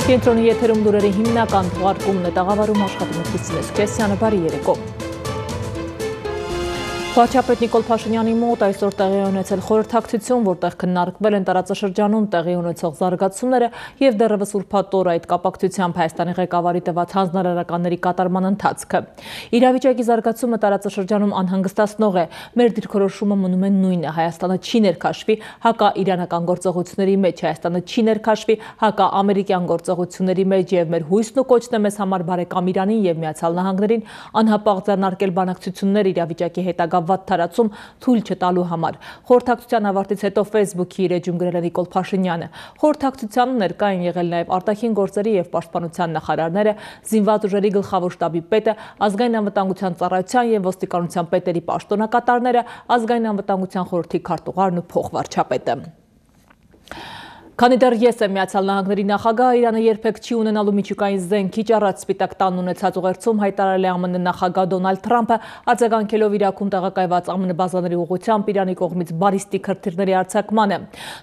Կենտրոնի եթերում լուրերի հիմնական թողարկումն է, տաղավարում աշխատում է Քրիստինե Սուքեսյանը, բարի երեկո։ Վարչապետ Նիկոլ Փաշինյանի մոտ այսօր տեղի ունեցել խորհրդակցություն, որտեղ քննարկվել են տարածաշրջանում տեղի ունեցող զարգացումները եւ դեռևս ուրբաթ օր այդ կապակցությամբ Հայաստանի ղեկավարի տված հանձնարարականների կատարման ընթացքը։ Իրավիճակի զարգացումը տարածաշրջանում անհանգստացնող է։ Մեր դիրքորոշումը մնում է նույնը. Հայաստանը չի ներքաշվի հակաիրանական գործողությունների մեջ, Հայաստանը չի ներքաշվի հակաամերիկյան գործողությունների մեջ եւ մեր հույսն ու կոչն է մեզ համար բարեկամ Իրանին եւ Միացյալ Նահանգներին անհապաղ ձեռնարկել բանակցություններ իրավիճակի հետագա վատ թարացում թույլ չտալու համար։ Խորհրդակցության ավարտից հետո Facebook-ի իր էջում գրել է Նիկոլ Փաշինյանը։ Խորհրդակցությանը ներկա են եղել նաև արտաքին գործերի եւ պաշտպանության նախարարները, զինված ուժերի գլխավոր շտաբի պետը, ազգային անվտանգության ծառայության եւ ոստիկանության պետերի պաշտոնակատարները, ազգային անվտանգության խորհրդի քարտուղարն ու փոխվարչապետը։ Քանի դեռ ես եմ Միացյալ Նահանգների նախագահը, Իրանը երբեք չի ունենալու միջուկային զենքիչ առաջ Սպիտակ տանն ունեցած ուղերձում հայտարարել է ԱՄՆ նախագահ Դոնալդ Թրամփը, արձագանքելով Իրաքում տեղակայված ԱՄՆ բազաների ուղղությամբ Իրանի կողմից բալիստիկ հրթիռների արձակմանը։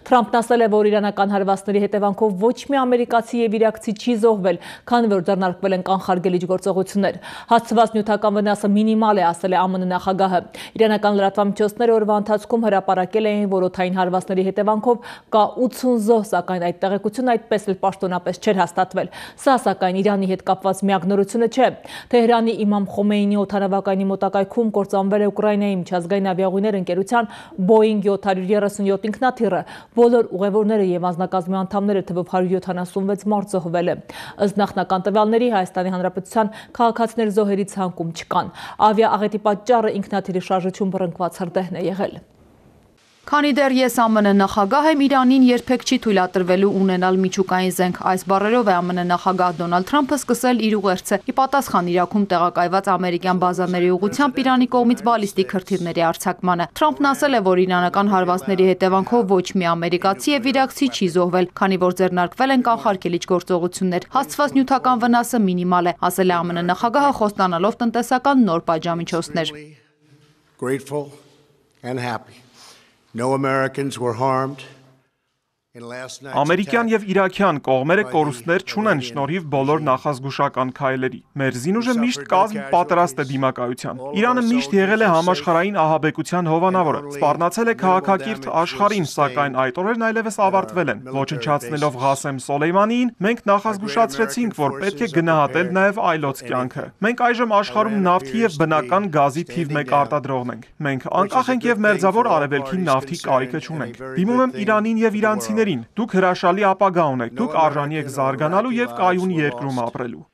Թրամփն ասել է, որ իրանական հարվածների հետևանքով ոչ մի ամերիկացի եւ իրաքցի չի զոհվել, քանի որ ձեռնարկվել են կանխարգելիչ գործողություններ։ Հասցված նյութական վնասը մինիմալ է, ասել է ԱՄՆ նախագահը։ Իրանական լրատվամիջոցները օրվա ընթացքում հրապարակել էին, որ օդային հարվածների հետևանքով կա 80 զոհ, սակայն այդ տեղեկությունը այդպես էլ պաշտոնապես չէր հաստատվել։ Սա սակայն Իրանի հետ կապված միակ նորությունը չէ։ Թեհրանի Իմամ Խոմեյնի օդանավակայանի մոտակայքում կործանվել է Ուկրաինայի միջազգային ավիաուղիներ ընկերության Boeing 737 ինքնաթիռը։ Բոլոր ուղևորները եւ անձնակազմի անդամները թվով 176 մարդ զոհվել է։ Ըստ նախնական տվյալների Հայաստանի Հանրապետության քաղաքացիներ զոհերի ցանկում չկան։ Ավիաաղետի պատճառը ինքնաթիռի շարժություն բռնկված հրդեհն է եղել։ Քանի դեռ ես ԱՄՆ նախագահ եմ, Իրանին երբեք չի թույլատրվելու ունենալ միջուկային զենք։ Այս բառերով է ԱՄՆ նախագահ Դոնալդ Թրամփը սկսել իր ուղերձը։ Ի պատասխան Իրաքում տեղակայված ամերիկյան բազաների ուղղությամբ Իրանի կողմից բալիստիկ հրթիռների արձակմանը։ Թրամփն ասել է, որ իրանական հարվածների հետևանքով ոչ մի ամերիկացի եւ իրաքցի չի զոհվել, քանի որ ձեռնարկվել են կանխարգելիչ գործողություններ։ Հասցված նյութական վնասը մինիմալ է, ասել է ԱՄՆ նախագահը, խոստանալով տնտեսական նոր պատժամիջոցներ։ No Americans were harmed. Ամերիկյան եւ իրաքյան կողմերը կորուստներ չունեն շնորհիվ բոլոր նախազգուշական քայլերի։ Մեր զինուժը միշտ կազմ պատրաստ է դիմակայության։ Իրանը միշտ եղել է համաշխարհային ահաբեկության հովանավորը, սպառնացել է քաղաքակիրթ աշխարհին, սակայն այդ օրերն այլևս ավարտվել են։ Ոչնչացնելով Ղասեմ Սոլեյմանիին, մենք նախազգուշացրեցինք, որ պետք է գնահատել նաեւ այլոց կյանքը։ Մենք այժմ աշխարհում նավթի եւ բնական գազի թիվ 1 արտադրողն ենք։ Մենք անկախ ենք եւ մերձավոր արևելքին նավթի կարիքը չունենք։ Դիմում եմ Իրանին եւ իրանցիներին, դուք հրաշալի ապագա ունեք, դուք արժանի եք զարգանալու եւ կայուն երկրում ապրելու։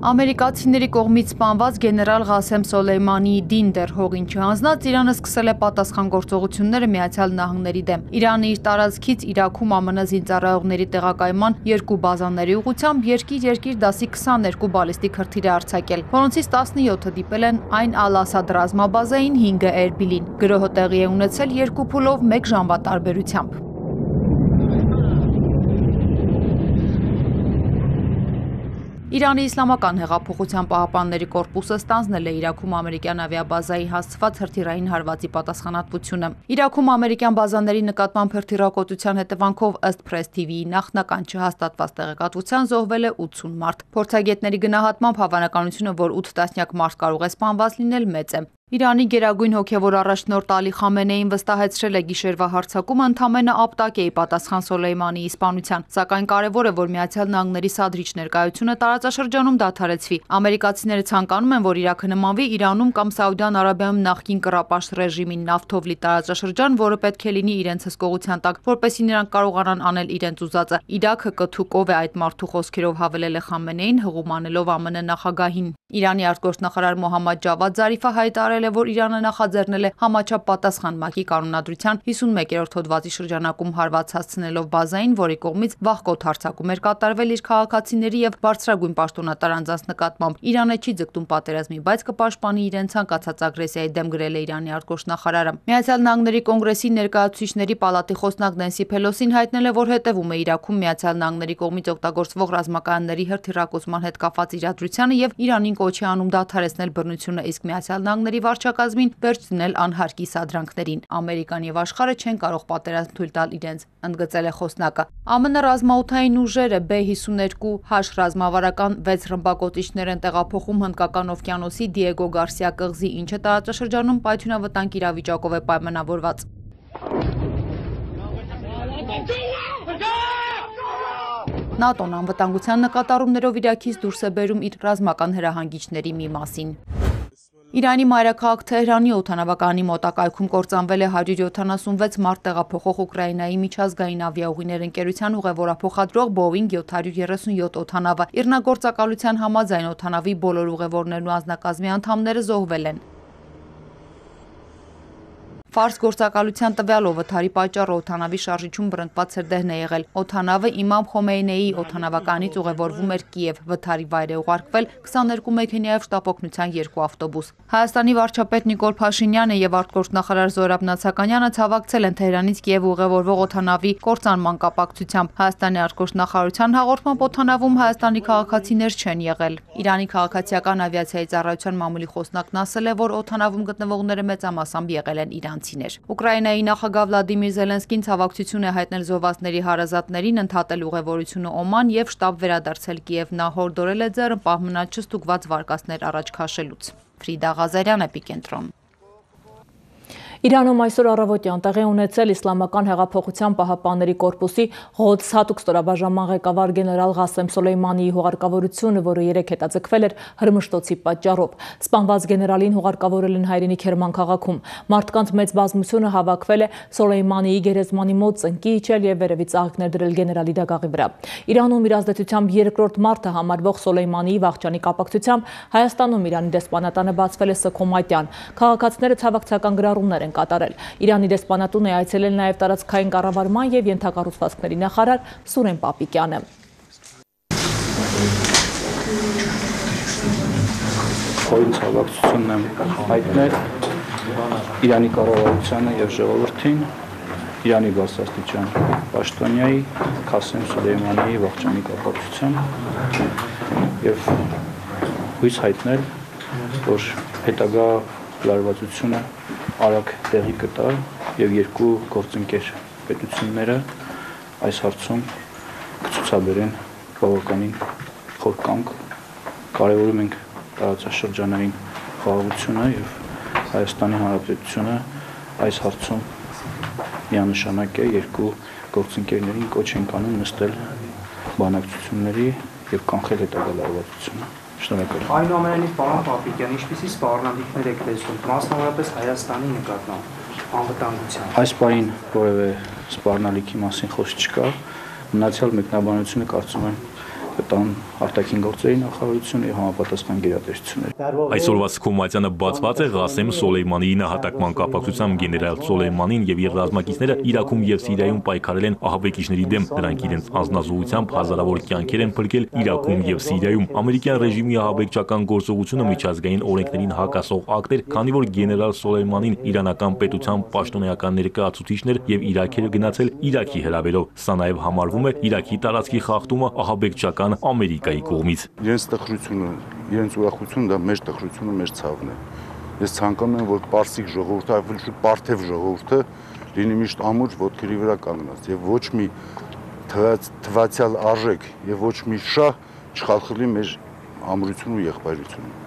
Ամերիկացիների կողմից սպանված գեներալ Ղասեմ Սոլեյմանիի դին դեռ հողին չհանձնած Իրանը սկսել է պատասխան գործողությունները Միացյալ Նահանգների դեմ։ Իրանը իր տարածքից Իրաքում ԱՄՆ զինծառայողների տեղակայման 2 բազաների ուղղությամբ երկիր դասի 22 բալիստիկ հրթիռ է արձակել, որոնցից 17-ը դիպել են Այն Ալ-Ասադ ռազմաբազային, 5-ը Էրբիլին։ Գրոհը տեղի է ունեցել 2 փուլով 1 ժամվա տարբերությամբ։ Իրանի Իսլամական հեղափոխության պահապանների կորպուսը ստանձնել է Իրաքում ամերիկյան ավիաբազայի հասցված հրթիռային հարվածի պատասխանատվությունը։ Իրաքում ամերիկյան բազաների նկատմամբ հրթիռակոծության հետևանքով ըստ Press TV-ի նախնական չհաստատված տեղեկատվության զոհվել է 80 մարդ։ Փորձագետների գնահատմամբ հավանականությունը, որ 8 տասնյակ մարդ կարող է սպանված լինել, մեծ է։ Իրանի գերագույն հոգևոր առաջնորդ Ալի Խամենեին վստահեցրել է գիշերվա հարձակումը ընդամենը ապտակ է ի պատասխան Սոլեյմանիի սպանության, սակայն կարևոր է, որ Միացյալ Նահանգների սադրիչ ներկայությունը տարածաշրջանում դադարեցվի։ Ամերիկացիները ցանկանում են, որ Իրաքը նմանվի Իրանում կամ Սաուդյան Արաբիայում նախկին կռապաշտ ռեժիմին, նավթով լի տարածաշրջան, որը պետք է լինի իրենց հսկողության տակ, որպեսզի նրանք կարողանան անել իրենց ուզածը։ Իրաքը կթուկով է այդ մարդու խոսքերով հավելել է Խամենեին, հղում անելով ԱՄՆ նախագահին։ Իրանի արտգործնախարար Մոհամմադ Ջավադ Զարիֆը հայտարարել է, որ Իրանը նախաձեռնել է համաչափ պատասխան ՄԱԿ-ի կանոնադրության 51-րդ հոդվածի շրջանակում հարված հասցնելով բազային, որի կողմից վաղկոտ հարձակում էր կատարվել իր քաղաքացիների եւ բարձրագույն պաշտոնատար անձանց նկատմամբ։ Իրանը չի ձգտում պատերազմի, բայց կպաշտպանի իրեն ցանկացած ագրեսիայի դեմ, գրել է Իրանի արտգործնախարարը։ Միացյալ Նահանգների կոնգրեսի ներկայացուցիչների պալատի խոսնակ Նենսի Փելոսին հայտնել է, որ հետևում է Իրաքում Միացյալ Նահանգների կողմից օգտագործվող ռազմակայանների հրթիռակոծման հետ կապված իրադրությանը եւ Իրանին կոչ է անում դադարեցնել բռնությունը, իսկ Միացյալ Նահանգների վարչակազմին վերջ դնել անհարկի սադրանքներին։ Ամերիկան եւ աշխարհը չեն կարող պատերազմ թույլ տալ իրենց, ընդգծել է խոսնակը։ ԱՄՆ ռազմաօդային ուժերը B-52H ռազմավարական 6 ռմբակոծիչներ են տեղափոխում Հնդկական օվկիանոսի Դիեգո Գարսիա կղզի, ինչը տարածաշրջանում պայթյունավտանգ իրավիճակով է պայմանավորված։ ՆԱՏՕ-ն անվտանգության նկատառումներով Իրաքից դուրս է բերում իր ռազմական հրահանգիչների մի մասին։ Իրանի մայրաքաղաք Թեհրանի օդանավակայանի մոտակայքում կործանվել է 176 մարդ տեղափոխող Ուկրաինայի միջազգային ավիաուղիներ ընկերության ուղևորափոխադրող Boeing 737 օդանավը։ Իռնագործակալության համաձայն օդանավի բոլոր ուղևորներն ու անձնակազմի անդամները զոհվել են։ Ֆարս գործակալության տվյալով վթարի պատճառը օդանավի շարժիչում բռնկված սրդեհն է եղել։ Օդանավը Իմամ Խոմեյնեի օդանավականից ուղևորվում էր Կիև։ Վթարի վայր է ուղարկվել 22 մեքենայով շտապօգնության 2 ավտոբուս։ Հայաստանի վարչապետ Նիկոլ Փաշինյանը եւ արտգործնախարար Զորաբ Նացականյանը ցավակցել են Թեհրանից Կիև ուղևորվող օդանավի կործանման կապակցությամբ։ Հայաստանի արտգործնախարարության հաղորդմամբ օդանավում Հայաստանի քաղաքացիներ չեն եղել։ Իրանի քաղաքացիական ավիացիայի ծառայության մամուլի խոսնակն ասել է, որ օդանավում գտնվողները մեծամասամբ եղել են իրանցիներ։ Ուկրաինայի նախագահ Վլադիմիր Զելենսկին ցավակցություն է հայտնել զոհվածների հարազատներին, ընդհատել ուղևորությունը Օման եւ շտաբ վերադարձել Կիև։ Նա հորդորել է ձեռը պահ մնալ չստուգված վարկածներ առաջ քաշելուց։ Ֆրիդա Ղազարյան, Էպիկենտրոն։ Իրանում այսօր առավոտյան տեղի ունեցել Իսլամական հեղափոխության պահապանների կորպուսի Ղոդս հատուկ ստորաբաժանման ղեկավար գեներալ Ղասեմ Սոլեյմանիի հուղարկավորությունը, որը երեկ հետաձգվել էր Հրմշտոցի պատճառով։ Սպանված գեներալին հուղարկավորել են հայրենի Քերման քաղաքում։ Մարդկանց մեծ բազմությունը հավաքվել է Սոլեյմանիի գերեզմանի մոտ ծնկի իջել եւ վերևից աղիքներ դրել գեներալի դագաղի վրա։ Իրանում իր ազդեցությամբ երկրորդ մարդը համարվող Սոլեյմանիի վախճանի կապակցությամբ Հայաստանում Իրանի դեսպանատանը բացվել է Սքոմայտյան։ Քաղաքացիները ցավակցական գրառումներ են կատարել։ Իրանի դեսպանատուն է այցելել նաև տարածքային կառավարման եւ ենթակառուցվածքների նախարար Սուրեն Պապիկյանը։ Խորին ցավակցությունն եմ հայտնել Իրանի կառավարությանը եւ ժողովրդին, Իրանի բարձրաստիճան պաշտոնյայի Ղասեմ Սոլեյմանիի վախճանի կապակցությամբ եւ հույս հայտնել, որ հետագա լարվածությունը արագ տեղի կտա եւ երկու գործընկեր պետությունները այս հարցում կցուցաբերեն բավականին խոր կամք։ Կարևորում ենք տարածաշրջանային խաղաղությունը եւ Հայաստանի Հանրապետությունը այս հարցում միանշանակ է երկու գործընկերներին կոչ ենք անում նստել բանակցությունների եւ կանխել հետագա լարվածությունը։ Շնորհակալ։ Այնուամենայնիվ, պարոն Պապիկյան, ինչպիսի սպառնալիքներ եք տեսնում, մասնավորապես Հայաստանի նկատմամբ անվտանգության։ Այս պահին որևէ սպառնալիքի մասին խոսք չկա, մնացյալ մեկնաբանությունը կարծում եմ կտան արտաքին գործերի նախարարությունը եւ համապատասխան գերատեսչությունները։ Այսօրվա Սքոմայցյանը բացված է Ղասեմ Սոլեյմանիի նահատակման կապակցությամբ գեներալ Սոլեյմանին եւ իր ռազմակիցները Իրաքում եւ Սիրիայում պայքարել են ահաբեկիչների դեմ։ Նրանք իրենց անձնազոհությամբ հազարավոր կյանքեր են փրկել Իրաքում եւ Սիրիայում։ Ամերիկյան ռեժիմի ահաբեկչական գործողությունը միջազգային օրենքներին հակասող ակտ էր, քանի որ գեներալ Սոլեյմանին իրանական պետության պաշտոնեական ներկայացուցիչներ եւ Իրաք էր գնացել Իրաքի հրավերով։ Սա նաեւ համարվում է Իրաքի տարածքի խախտումը ահաբեկչական Ամերիկայի կողմից։ Իրենց տխրությունը, իրենց ուրախությունը դա մեր տխրությունը, մեր ցավն է։ Ես ցանկանում եմ, որ պարսիկ ժողովուրդը, ավելի շուտ պարթև ժողովուրդը լինի միշտ ամուր ոտքերի վրա կանգնած եւ ոչ մի թվացial արժեք եւ ոչ մի շահ չխախտի մեր ամրությունը ու եղբայրությունը։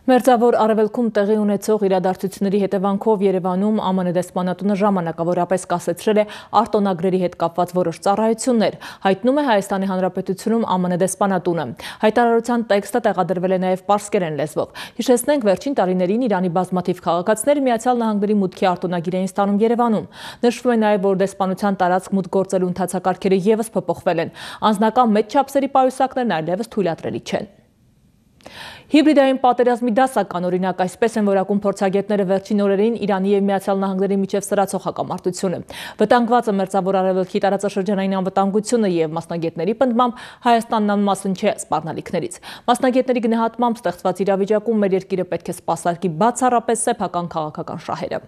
Մերձավոր Արևելքում տեղի ունեցող իրադարձությունների հետևանքով Երևանում ԱՄՆ դեսպանատունը ժամանակավորապես կասեցրել է արտոնագրերի հետ կապված որոշ ծառայություններ, հայտնում է Հայաստանի Հանրապետությունում ԱՄՆ դեսպանատունը։ Հայտարարության տեքստը տեղադրվել է նաև պարսկերեն լեզվով։ Հիշեցնենք, վերջին տարիներին Իրանի բազմաթիվ քաղաքացիներ Միացյալ Նահանգների մուտքի արտոնագիր էին ստանում Երևանում։ Նշվում է նաև, որ դեսպանության տարածք մուտք գործելու ընթացակարգերը եւս փոփոխվել են։ Անձնական մեծ չափսերի պայուսակներն այլևս թույլատրելի չեն։ Հիբրիդային պատերազմի դասական օրինակ այսպես են որակում փորձագետները վերջին օրերին Իրանի եւ Միացյալ Նահանգների միջև սրացող հակամարտությունը։ Վտանգված է Մերձավոր Արևելքի տարածաշրջանային անվտանգությունը եւ մասնագետների պնդմամբ Հայաստանն անմասն չէ սպառնալիքներից։ Մասնագետների գնահատմամբ ստեղծված իրավիճակում մեր երկիրը պետք է սպասարկի բացառապես սեփական քաղաքական շահերը։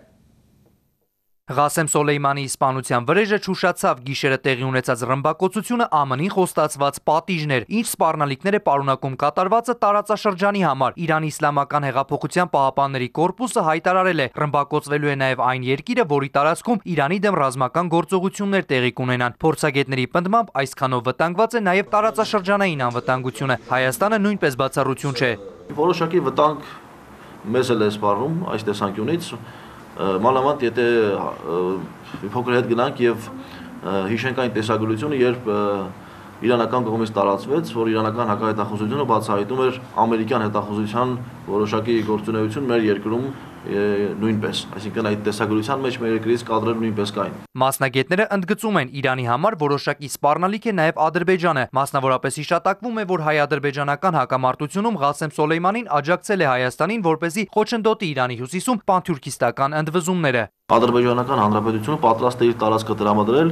Ղասեմ Սոլեյմանի սպանության վրեժը չուշացավ գիշերը տեղի ունեցած ռմբակոծությունը ԱՄՆ-ին խոստացված պատիժներ, ինչ սպառնալիքներ է պարունակում կատարվածը տարածաշրջանի համար։ Իրանի Իսլամական հեղափոխության պահապանների կորպուսը հայտարարել է, ռմբակոծվելու է նաև այն երկիրը, որի տարածքում Իրանի դեմ ռազմական գործողություններ տեղի կունենան։ Փորձագետների պնդմամբ այսքանով վտանգված է նաև տարածաշրջանային անվտանգությունը։ Հայաստանը նույնպես բացառություն չէ։ Որոշակի վտանգ մեզ էլ է սպառնում այս տեսանկյունից, մանավանդ եթե փոքր հետ գնանք եւ հիշենք այն տեսագրությունը, երբ իրանական կողմից տարածվեց, որ իրանական հակահետախուզությունը բացահայտում էր ամերիկյան հետախուզության որոշակի գործունեություն մեր երկրում նույնպես, այսինքն այդ տեսագրության մեջ մեր երկրից կադրեր նույնպես կային։ Մասնագետները ընդգծում են Իրանի համար որոշակի սպառնալիք է նաև Ադրբեջանը, մասնավորապես հիշատակվում է, որ հայ-ադրբեջանական հակամարտությունում Ղասեմ Սոլեյմանին աջակցել է Հայաստանին, որպեսզի խոչընդոտի Իրանի հյուսիսում պանթյուրքիստական ընդվզումները։ Ադրբեջանական հանրապետությունը պատրաստ է իր տարածքը տրամադրել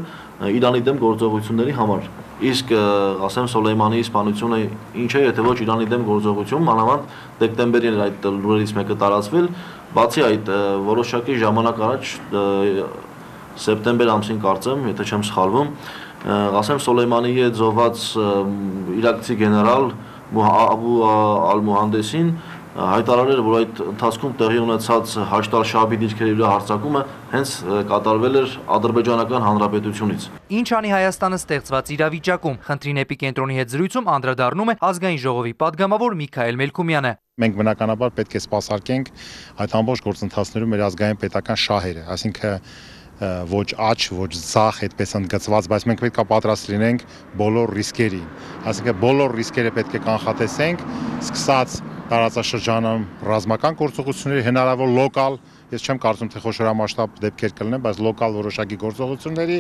Իրանի դեմ գործողությունների համար։ Իսկ Ղասեմ Սոլեյմանի սպանությունը ինչ է, եթե ոչ Իրանի դեմ գործողություն, մանավանդ դեկտեմբերին այդ լուրերից մեկը տարածվել, բացի այդ որոշակի ժամանակ առաջ սեպտեմբեր ամսին կարծեմ, եթե չեմ սխալվում, Ղասեմ Սոլեյմանի հետ զոհված իրաքցի գեներալ Աբու Ալ-Մուհանդեսին հայտարարել, որ այդ ընթացքում տեղի ունեցած Հաշդ ալ-Շաաբի դիրքերի վրա հարձակումը հենց կատարվել էր Ադրբեջանական հանրապետությունից։ Ինչ անի Հայաստանը ստեղծված իրավիճակում, խնդրին էպիկենտրոնի հետ զրույցում անդրադառնում է ազգային ժողովի падգամավոր Միքայել Մելքումյանը։ Մենք բնականաբար պետք է սպասարկենք այդ ամբողջ գործընթացներում մեր ազգային պետական շահերը, այսինքն ոչ աճ, ոչ ցախ այդպես ընդգծված, բայց մենք պետք է պատրաստ լինենք բոլոր ռիսկերին։ Այսինքն բոլոր ռիսկերը պետք է կանխատեսենք, սկսած տարածաշրջանում ռազմական գործողությունների, հնարավոր լոկալ, ես չեմ կարծում թե խոշորամասշտաբ դեպքեր կլինեն, բայց լոկալ որոշակի գործողությունների,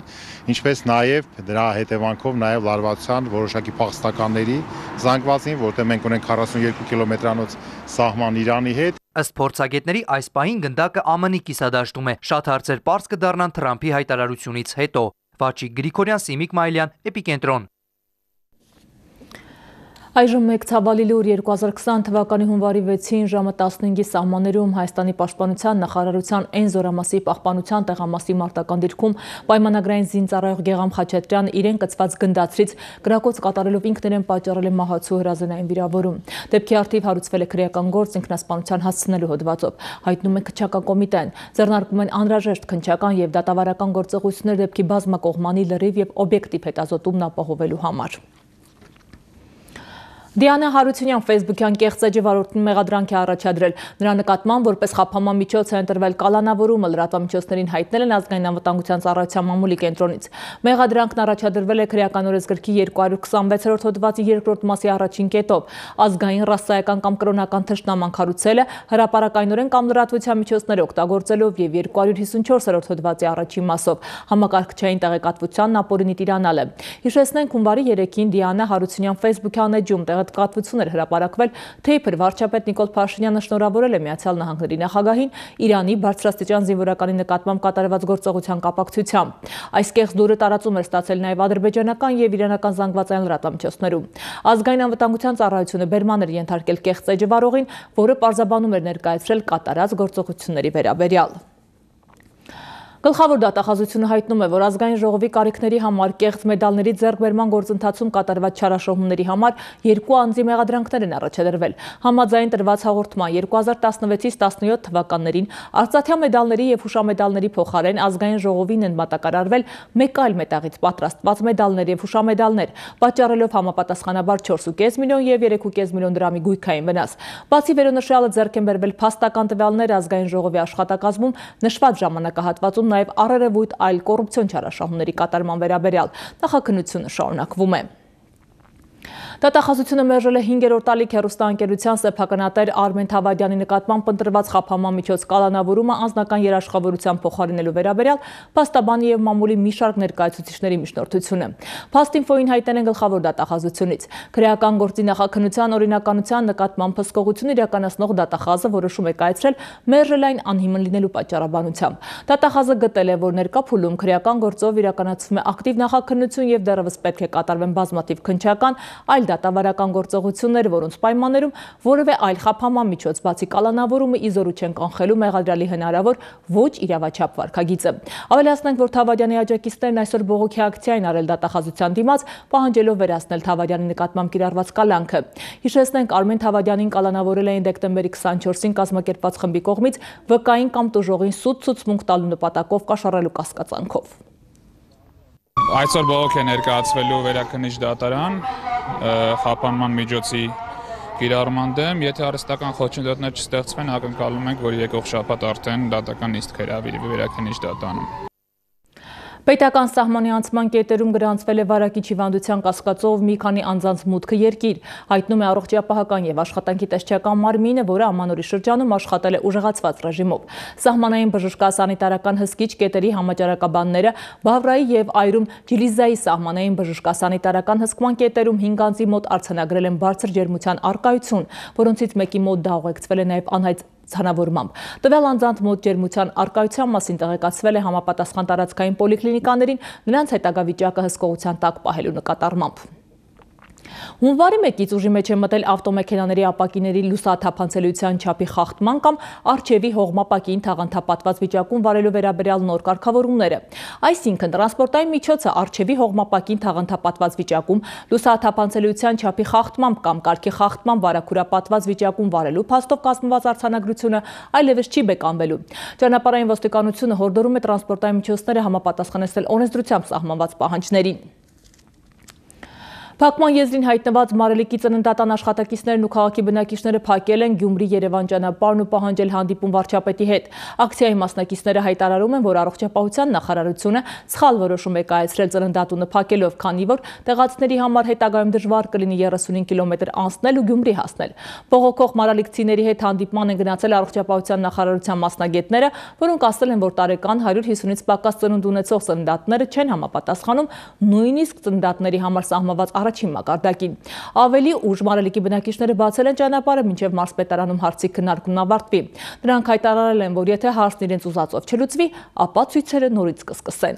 ինչպես նաև դրա հետևանքով նաև լարվածության որոշակի փախստականների զանգվածին, որտեղ մենք ունենք 42 կիլոմետրանոց սահման Իրանի հետ։ Ըստ փորձագետների այս պահին գնդակը ԱՄՆ-ի կիսադաշտում է, շատ հարցեր պարզ կդառնան Թրամփի հայտարարությունից հետո։ Վաչիկ Գրիգորյան, Սիմիկ Մայլյան, Էպիկենտրոն։ Այժմ մեկ ցավալի լուր 2020 թվականի հունվարի 6-ին ժամը 15-ի սահմաններում Հայաստանի պաշտպանության նախարարության N զորամասի պահպանության տեղամասի մարտական դիրքում պայմանագրային զինծառայող Գեգամ Խաչատրյանը իրեն կցված գնդացրից գրակոց կատարելով ինքներեն պատճառել է մահացու հրազենային վիրավորում։ Դեպքի առթիվ հարուցվել է քրեական գործ ինքնասպանության հասցնելու հոդվածով, հայտնում է քննչական կոմիտեն։ Ձեռնարկվում են անհրաժեշտ քննչական եւ դատավարական գործողություններ դեպքի բազմակողմանի լրիվ եւ օբյեկտիվ հետազոտումն ապահովելու համար։ Դիանա Հարությունյան Facebook-յան կեղծ էջը վարորդին մեղադրանք է առաջադրել։ Նրա նկատմամբ որպես խափանման միջոց է ընտրվել կալանավորումը, լրատվամիջոցներին հայտնել են ազգային անվտանգության ծառայության մամուլի կենտրոնից։ Մեղադրանքն առաջադրվել է քրեական օրենսգրքի 226-րդ հոդվածի 2-րդ մասի առաջին կետով։ Ազգային, ռասայական կամ կրոնական թշնաման քարոզելը, հրապարակայնորեն կամ լրատվության միջոցներ օգտագործելով եւ 254-րդ հոդվածի առաջին մասով համակարգչային տեղեկատվությանն ապօրինի տիրանալ է։ Հիշեցնենք, հունվարի 3-ին Դիանա Հարությունյան Facebook-յան էջում տեղեկատվություն էր հրապարակվել, թե իբր վարչապետ Նիկոլ Փաշինյանը շնորհավորել է Միացյալ Նահանգների նախագահին Իրանի բարձրաստիճան զինվորականի նկատմամբ կատարված գործողության կապակցությամբ։ Այս կեղծ լուրը տարածում էր ստացել նաև ադրբեջանական եւ իրանական զանգվածային լրատվամիջոցներում։ Ազգային անվտանգության ծառայությունը բերման էր ենթարկել կեղծ էջը վարողին, որը պարզաբանում էր ներկայացրել կատարած գործողությունների վերաբերյալ։ Գլխավոր դատախազությունը հայտնում է, որ ազգային ժողովի կարիքների համար կեղծ մեդալների ձեռքբերման գործընթացում կատարված չարաշահումների համար 2 անձի մեղադրանքներ են առաջադրվել։ Համաձայն տրված հաղորդման 2016-ից 17 թվականներին արծաթյա մեդալների եւ հուշամեդալների փոխարեն ազգային ժողովին են մատակարարվել մեկ այլ մետաղից պատրաստված մեդալներ եւ հուշամեդալներ, պատճառելով համապատասխանաբար 4.5 միլիոն եւ 3.5 միլիոն դրամի գույքային վնաս։ Բացի վերոնշյալը ձեռք են բերվել փաստական տվյալներ ազգային ժողովի աշխատակազմում նշված ժամանակահատվածում նաև առերևույթ այլ կոռուպցիոն չարաշահումների կատարման վերաբերյալ։ Նախաքննությունը շարունակվում է։ Դատախազությունը մերժել է 5-րդ տալիք հեռուստաընկերության սեփականատեր Արմեն Թավադյանի նկատմամբ ընտրված խափանման միջոց կալանավորումը անձնական երաշխավորության փոխարինելու վերաբերյալ փաստաբանի եւ մամուլի մի շարք ներկայացուցիչների միջնորդությունը։ Փաստինֆոյին հայտնել են գլխավոր դատախազությունից։ Քրեական գործի նախաքննության օրինականության նկատմամբ հսկողություն իրականացնող դատախազը որոշում է կայացրել մերժել այն անհիմն լինելու պատճառաբանությամբ։ Դատախազը գտել է, որ ներկա փուլում քրեական գործով իրականացվում է ակտիվ նախաքննություն եւ դեռևս պետք է կատարվեն բազմաթիվ քննչական, այլ դատավարական գործողություններ, որոնց պայմաններում որևէ այլ խափանման միջոց բացի կալանավորումը ի զորու չեն կանխելու մեղադրյալի հնարավոր ոչ իրավաչափ վարքագիծը։ Ավելացնենք, որ Թավադյանի աջակիցներն այսօր բողոքի ակցիա են արել դատախազության դիմաց, պահանջելով վերացնել Թավադյանի նկատմամբ կիրառված կալանքը։ Հիշեցնենք, Արմեն Թավադյանին կալանավորել էին դեկտեմբերի 24-ին կազմակերպված խմբի կողմից վկային կամ տուժողին սուտ ցուցմունք տալու նպատակով կաշառելու կասկածանքով։ Այսօր բողոք է ներկայացվելու վերաքննիչ դատարան խափանման միջոցի կիրառման դեմ, եթե արհեստական խոչընդոտներ չստեղծվեն, ակնկալում ենք, որ եկող շաբաթ արդեն դատական նիստ կհրավիրվի վերաքննիչ դատարանում։ Պետական սահմանի անցման կետերում գրանցվել է վարակիչ հիվանդության կասկածով մի քանի անձանց մուտքը երկիր, հայտնում է առողջապահական եւ աշխատանքի տեսչական մարմինը, որը ամանորի շրջանում աշխատել է ուժեղացված ռեժիմով։ Սահմանային բժշկասանիտարական հսկիչ կետերի համաճարակաբանները Բավրայի եւ Այրում Ջիլիզայի սահմանային բժշկասանիտարական հսկման կետերում 5 անձի մոտ արձանագրել են բարձր ջերմության առկայություն, որոնցից մեկի մոտ դա ուղեկցվել է նաեւ անհայտ ցանավորմամբ։ Տվյալ անձանց մոտ ջերմության առկայության մասին տեղեկացվել է համապատասխան տարածքային պոլիկլինիկաներին, նրանց հետագա վիճակը հսկողության տակ պահելու նկատառմամբ։ Հունվարի 1-ից ուժի մեջ է մտել ավտոմեքենաների ապակիների լուսաթափանցելիության չափի խախտման կամ առջևի հողմապակին թաղանթապատված վիճակում վարելու վերաբերյալ նոր կարգավորումները։ Այսինքն, տրանսպորտային միջոցը առջևի հողմապակին թաղանթապատված վիճակում լուսաթափանցելիության չափի խախտմամբ կամ կարգի խախտման վարակուրապատված վիճակում վարելու փաստով կազմված արձանագրությունը այլևս չի բեկանվելու։ Ճանապարհային ոստիկանությունը հորդորում է տրանսպորտային միջոցները համապատասխանեցնել օրենսդրությամբ սահմանված պահանջներին։ Փակման եզրին հայտնված Մարելիքի ծննդատան աշխատակիցներն ու քաղաքի բնակիչները փակել են Գյումրի-Երևան ճանապարհն ու պահանջել հանդիպում վարչապետի հետ։ Ակցիայի մասնակիցները հայտարարում են, որ առողջապահության նախարարությունը սխալ որոշում է կայացրել ծննդատունը փակելով, քանի որ տեղացիների համար հետագայում դժվար կլինի 35 կիլոմետր անցնել ու Գյումրի հասնել։ Բողոքող մարալիքցիների հետ հանդիպման են գնացել առողջապահության նախարարության մասնագետները, որոնք ասել են, որ տարեկան 150-ից պակաս ծնունդ ունեցող ծննդատները չեն համապատասխանում նույնիսկ ծննդատների համար սահմանված առաջին մակարդակին։ Ավելի ուշ Մարալիքի բնակիչները բացել են ճանապարհը, մինչև մարզպետարանում հարցի քննարկումն ավարտվի։ Նրանք հայտարարել են, որ եթե հարցն իրենց ուզածով չլուծվի, ապա ցույցերը նորից կսկսեն։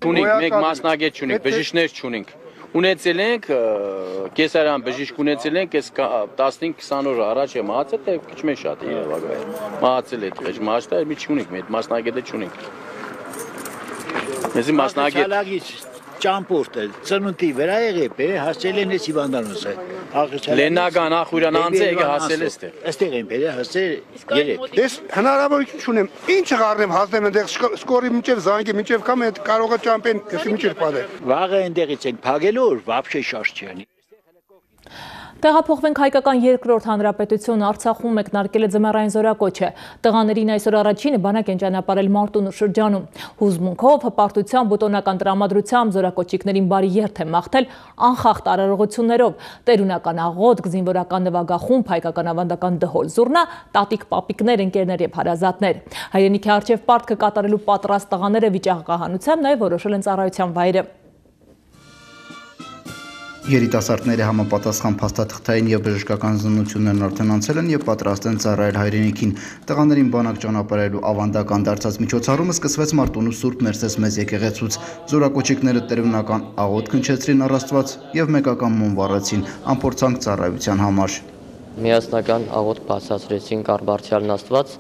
Ունենք մեկ մասնագետ չունենք, բժիշկներ չունենք։ Ունեցել ենք կեսարյան բժիշկ ունեցել ենք, այս 15-20 օր առաջ է մահացել, թե քիչ մեծ շատ է երևակայել։ Մահացել է, այլ մասնագետ մի չունենք, մեր մասնագետը չունենք։ Մեզի մասնագետ ճամփորդ է, ծնունդի վրա եղել է, հասել են էս հիվանդանոցը։ Լեննական ախուրան անձը եկե հասել էստեղ։ Այստեղ են բերել, հասել երեք։ Ես հնարավորություն չունեմ, ինչը առնեմ հասնեմ այնտեղ սկորի մինչև զանգի, մինչև կամ կարող է ճամփեն, քսի մինչև падել։ Վաղը այնտեղից են փագելու, вообще շարժ չի անի։ Տեղափոխվենք հայկական երկրորդ հանրապետությունը Արցախում մեկնարկել է ձմեռային զորակոչը։ Տղաներին այսօր առաջինը բանակ են ճանապարհել Մարտունու շրջանում։ Հուզմունքով, հպարտությամբ, բուտոնական տրամադրությամբ զորակոչիկներին բարի երթ է մաղթել անխախտ արարողություններով։ Տերունական աղոթք, զինվորական նվագախումբ, հայկական ավանդական դհոլ զուռնա, տատիկ պապիկներ, ընկերներ եւ հարազատներ։ Հայրենիքի առջև պարտքը կատարելու պատրաստ տղաները վիճակահանությամբ նաեւ որոշել են ծառայության վայրը։ Երիտասարդները համապատասխան փաստաթղթային եւ բժշկական զննություններն արդեն անցել են եւ պատրաստ են ծառայել հայրենիքին։ Տղաներին բանակ ճանապարհելու ավանդական դարձած միջոցառումը սկսվեց Մարտունու Սուրբ Մերսես մեծ եկեղեցուց։ Զորակոչիկները տերունական աղոթք հնչեցրին առ Աստված եւ մեկական մոմ վառեցին անփորձանք ծառայության համար։ Միասնական աղոթք բացացրեցին Կարբարձյալն Աստված,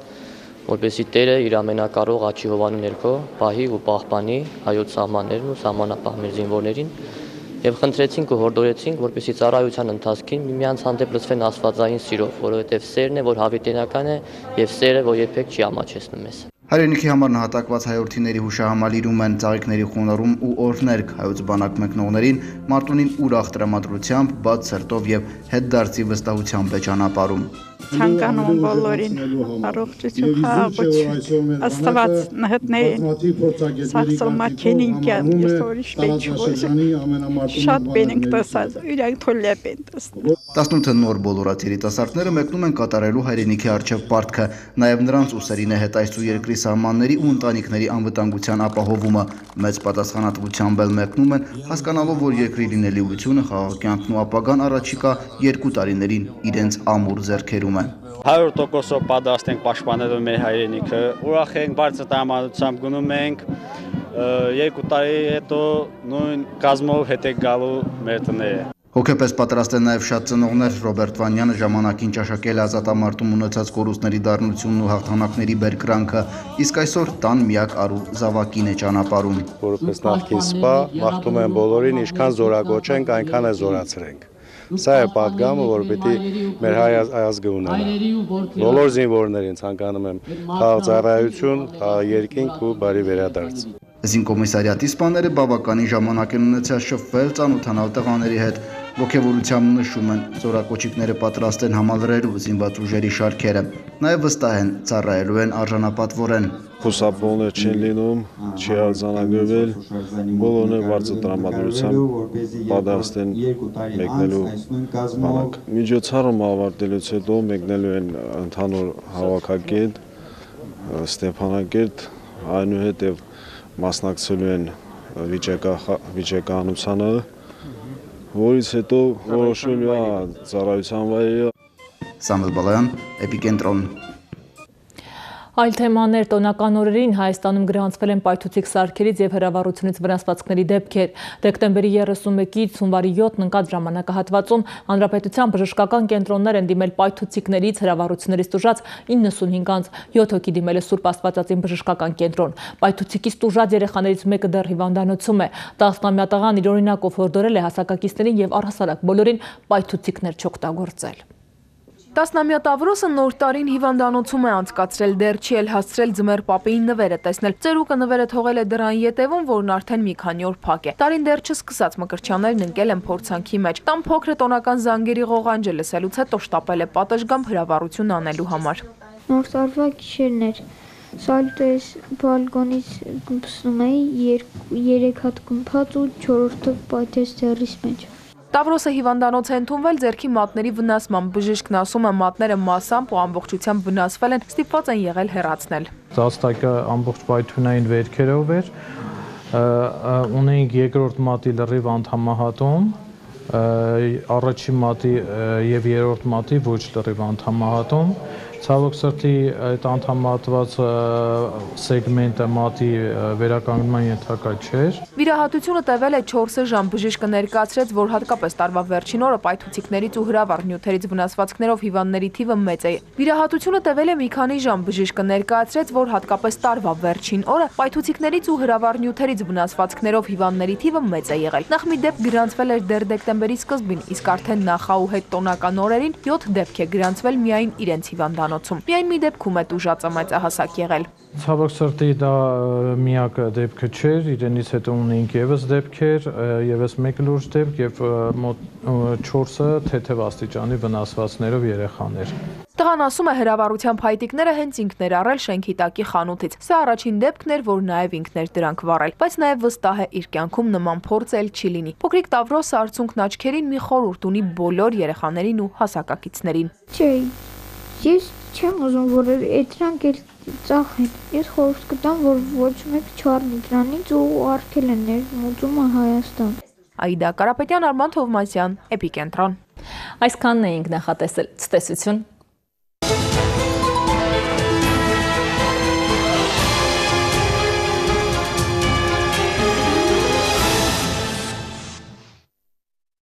որպեսզի Տերը իր ամենակարող աջի հովանու ներքո պահի ու պահպանի հայոց սահմաններն ու սահմանապահ մեր զինվորներին եւ խնդրեցինք ու հորդորեցինք, որպեսզի ծառայության ընթացքին միմյանց հանդեպ լցվեն աստվածային սիրով, որովհետեւ սերն է, որ հավիտենական է եւ սերը, որ երբեք չի ամաչեցնում մեզ։ Հայրենիքի համար նահատակված հայորդիների հուշահամալիրում են ծաղիկների խոնարհում ու օրհներգ հայոց բանակ մեկնողներին Մարտունին ուրախ տրամադրությամբ, բաց սրտով եւ հետդարձի վստահությամբ է ճանապարհում։ Ցանկանում բոլորին առողջություն, խաղաղություն, Աստված նհտնեն, սաղսալմակենին կյան, ես որիշ բեջոզ, շատ բենենք տասած, իրանք թոլյապ են տասնի։ 18 նոր բոլորած երիտասարդները մեկնում են կատարելու հայրենիքի առջև պարտքը, նաև նրանց ուսերին է հետայցու երկրի սահմանների ու ընտանիքների անվտանգության ապահովումը, մեծ պատասխանատվությամբ էլ մեկնում են, հասկանալով, որ երկրի լինելիությունը, խաղաղ կյանքն ու ապագան առաջիկա 2 տարիներին իրենց ամուր ձեռքերում է։ 100% պատրաստ ենք պաշտպանելու մեր հայրենիքը, ուրախ ենք, բարձր տրամադրությամբ գնում ենք, 2 տարի հետո նույն կազմով հետ է գալու մեր տները։ Հոգեպես պատրաստ են նաև շատ ծնողներ։ Ռոբերտ Վանյանը ժամանակին ճաշակել ազատամարտում ունեցած կորուստների դառնությունն ու հաղթանակների բերկրանքը, իսկ այսօր տան միակ արու զավակին է ճանապարհում։ Որպես նախկին սպա մաղթում եմ բոլորին, ինչքան զորակոչենք, այնքան է զորացրենք։ Սա է պատգամը, որ պիտի մեր հայ ազգը ունենա։ Բոլոր զինվորներին ցանկանում եմ խաղաղարարություն, երկինք ու բարի վերադարձ։ Զինկոմիսարիատի սպաները բավականին ժամանակ են ունեցած շփվել, ծանոթանալ տղաների հետ։ Ոգևորությամբ նշում են, զորակոչիկները պատրաստ են համալրելու զինված ուժերի շարքերը, նաև վստահ են, ծառայելու են արժանապատվորեն։ Խուսափողներ չեն լինում, չի արձանագրվել, բոլորն էլ բարձր տրամադրությամբ պատրաստ են մեկնելու բանակ։ Միջոցառումը ավարտելուց հետո մեկնելու են ընդհանուր հավաքակետ, Ստեփանակերտ, այնուհետև մասնակցելու են վիճակահանությանը, որից հետո որոշելու է ծառայության վայրը։ Սամվել Բալայան, Էպիկենտրոն։ Այլ թեմաներ տոնական օրերին Հայաստանում գրանցվել են պայթուցիկ սարքերից և հրավառությունից վնասվածքների դեպքեր։ Դեկտեմբերի 31-ից հունվարի 7-ն ընկած ժամանակահատվածում հանրապետության բժշկական կենտրոններ են դիմել պայթուցիկներից, հրավառություններից տուժած 95 անձ, 7 հոգի դիմել է Սուրբ Աստվածածին բժշկական կենտրոն։ Պայթուցիկից տուժած երեխաներից մեկը դեռ հիվանդանոցում է։ 10-ամյա տղան իր օրինակով հորդորել է հասակակիցներին և առհասարակ բոլորին պայթուցիկներ չօգտագործել։ 10-ամյա Տավրոսը նոր տարին հիվանդանոցում է անցկացրել, դեռ չի էլ հասցրել ձմեռ պապեին նվերը տեսնել։ Ծերուկը նվերը թողել է դռան ետևում, որն արդեն մի քանի օր փակ է։ Տարին դեռ չսկսած մկրտչյաններն ընկել են փորձանքի մեջ։ Տան փոքրը տոնական զանգերի ղողանջը լսելուց հետո շտապել է պատշգամբ հրավառություն անելու համար։ Նոր տարվա գիշերն էր։ Սալուտես բալկոնից գնացում էի, 3 հատ գմփած ու 4-րդը պայթեց ձեռիս մեջ։ Տավրոսը հիվանդանոց է ընդունվել ձեռքի մատների վնասման։ Բժիշկն ասում է, մատները մասամբ ու ամբողջությամբ վնասվել են, ստիպված են եղել հեռացնել։ Զաստակը ամբողջ պայթյունային վերքերով էր, ունեինք երկրորդ մատի լրիվ անդամահատում, առաջին մատի և երրորդ մատի ոչ լրիվ անդամահատում։ Ցավոք սրտի այդ անդամահատված սեգմենտը մատի վերականգնման ենթակա չէր։ Վիրահատությունը տևել է 4 ժամ։ Բժիշկը ներկայացրեց, որ հատկապես տարվա վերջին օրը պայթուցիկներից ու հրավառ նյութերից վնասվածքներով հիվանդների թիվը մեծ է։ Վիրահատությունը տևել է մի քանի ժամ։ Բժիշկը ներկայացրեց, որ հատկապես տարվա վերջին օրը պայթուցիկներից ու հրավառ նյութերից վնասվածքներով հիվանդների թիվը մեծ է եղել։ Նախ մի դեպք գրանցվել էր դեռ դեկտեմբերի սկզբին, իսկ արդեն նախահու հետ տոնական օրերին 7 դեպք է գրանցվել միայն իրենց հիվանդանոցում։ Միայն մի դեպքում է տուժածը մեծահասակ եղել։ Ցավոք սրտի դա միակ դեպքը չէր, իրենից հետո ունեինք եւս դեպքեր, եւս մեկ լուրջ դեպք եւ մոտ 4-ը թեթև աստիճանի վնասվածքներով երեխաներ։ Տղան ասում է, հրավառության փայտիկները հենց ինքն էր առել շենքի տակի խանութից։ Սա առաջին դեպքն էր, որ նաև ինքն էր դրանք վառել, բայց նաև վստահ է, իր կյանքում նման փորձ էլ չի լինի։ Փոքրիկ Տավրոսը արցունքն աչքերին մի խորհուրդ ունի բոլոր երեխաներին ու հասակակիցներին։ Չէ, ես չեմ ուզում, որ դրանք էլ ծախեն։ Ես խորհուրդ կտամ, որ ոչ մեկ չառնի դրանից ու արգել են ներմուծումը Հայաստան։ Աիդա Կարապետյան, Արման Թովմասյան, Էպիկենտրոն։ Այսքանն էինք նախատեսել։ Ցտեսություն։